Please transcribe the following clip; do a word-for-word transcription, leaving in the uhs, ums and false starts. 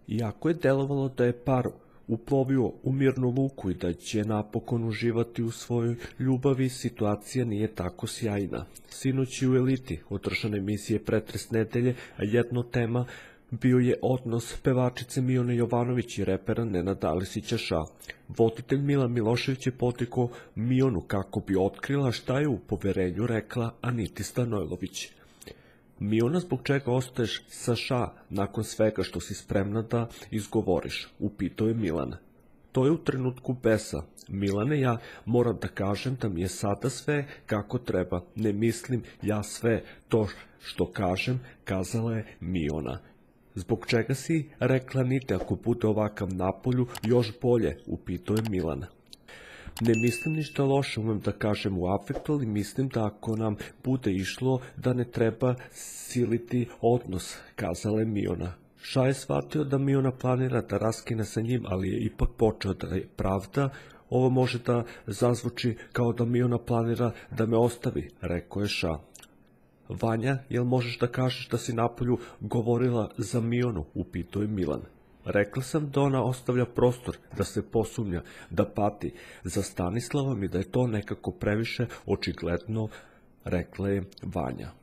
Iako je delovalo da je par uplovio u mirnu luku i da će napokon uživati u svojoj ljubavi, situacija nije tako sjajna. Sinoć u Eliti održane emisije Pretres nedelje, a jedna tema bio je odnos pevačice Mione Jovanović i repera Nenada Alisića Ša. Voditelj Milan Milošević je potekao Mionu kako bi otkrila šta je u poverenju rekla Aniti Stanojlović. Miona, zbog čega ostaješ sa Ša nakon svega što si spremna da izgovoriš, upitao je Milan. To je u trenutku besa. Milane, ja moram da kažem da mi je sada sve kako treba. Ne mislim ja sve to što kažem, kazala je Miona. Zbog čega si rekla Anite, ako bude ovakav napolju, još bolje, upitao je Milan. Ne mislim ništa loše, umem da kažem u afektu, ali mislim da ako nam bude išlo da ne treba siliti odnos, kazala je Miona. Ša je shvatio da Miona planira da raskine sa njim, ali je ipak počeo da je pravda. Ovo može da zazvuči kao da Miona planira da me ostavi, rekao je Ša. Vanja, jel možeš da kažeš da si napolju govorila za Mionu, upitao je Milan. Rekla sam da ona ostavlja prostor, da se posumnja, da pati za Stanislavom i da je to nekako previše očigledno, rekla je Vanja.